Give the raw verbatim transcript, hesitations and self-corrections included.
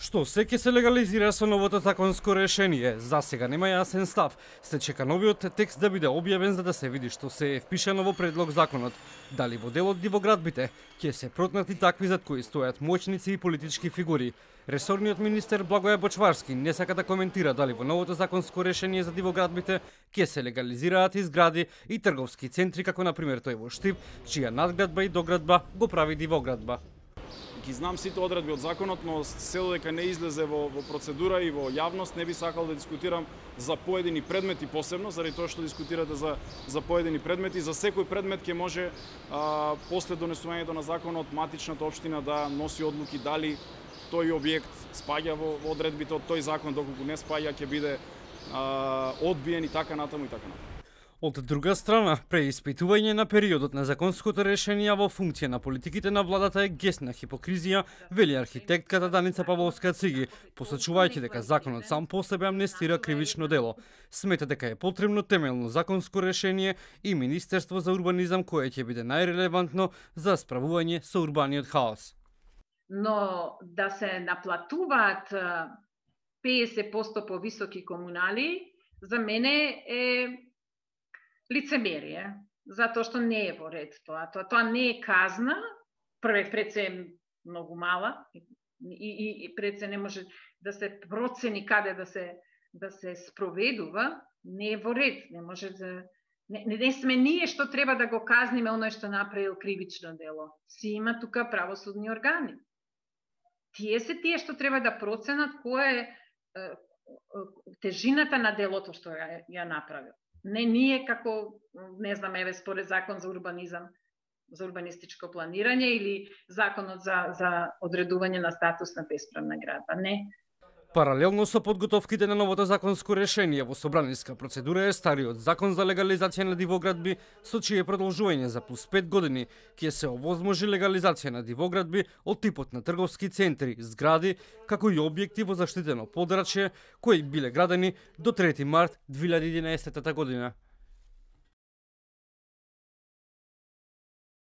Што се ќе се легализира со новото законско решение? За сега нема јасен став. Се чека новиот текст да биде објавен за да се види што се е впишано во предлог законот. Дали во делот дивоградбите ќе се протнати такви зад кои стојат моćници и политички фигури. Ресорниот министер Благоје Бочварски не сака да коментира дали во новото законско решение за дивоградбите ќе се легализираат и згради и трговски центри како на пример тој во Штип, чија надградба и доградба го прави дивоградба. Ги знам сите одредби од законот, но се додека не излезе во, во процедура и во јавност, не би сакал да дискутирам за поедини предмети посебно, заради тоа што дискутирате за, за поедини предмети. За секој предмет ќе може а, после донесувањето на законот матичната општина да носи одлуки дали тој објект спаѓа во, во одредбите од тој закон, доколку не спаѓа ќе биде а, одбиен и така натаму и така натаму. Од друга страна, преиспитување на периодот на законското решение во функција на политиките на владата е гесна хипокризија, вели архитектката Даница Павловска-Циги, посочувајќи дека законот сам по себе амнестира кривично дело. Смета дека е потребно темелно законско решение и Министерство за урбанизам кое ќе биде најрелевантно за справување со урбаниот хаос. Но да се наплатуваат педесет проценти повисоки комунали, за мене е лицемерие, затоа што не е во ред тоа. Тоа, тоа не е казна, прве пред се е многу мала и, и, и пред се не може да се процени каде да се да се спроведува, не е во ред, не може да не, не сме ние што треба да го казниме оној што направил кривично дело. Си има тука правосудни органи. Тие се тие што треба да проценат која е, е, е тежината на делото што ја, ја направил. Не ние како, не знам, еве според закон за урбанизам, за урбанистичко планирање или законот за, за одредување на статус на бесправна градба. Не. Паралелно со подготовките на новото законско решение во собраниска процедура е стариот закон за легализација на дивоградби, со чие продолжување за плюс пет години ќе се овозможи легализација на дивоградби од типот на трговски центри, згради, како и објекти во заштитено подрачје кои биле градени до трети март две илјади и единаесетта година.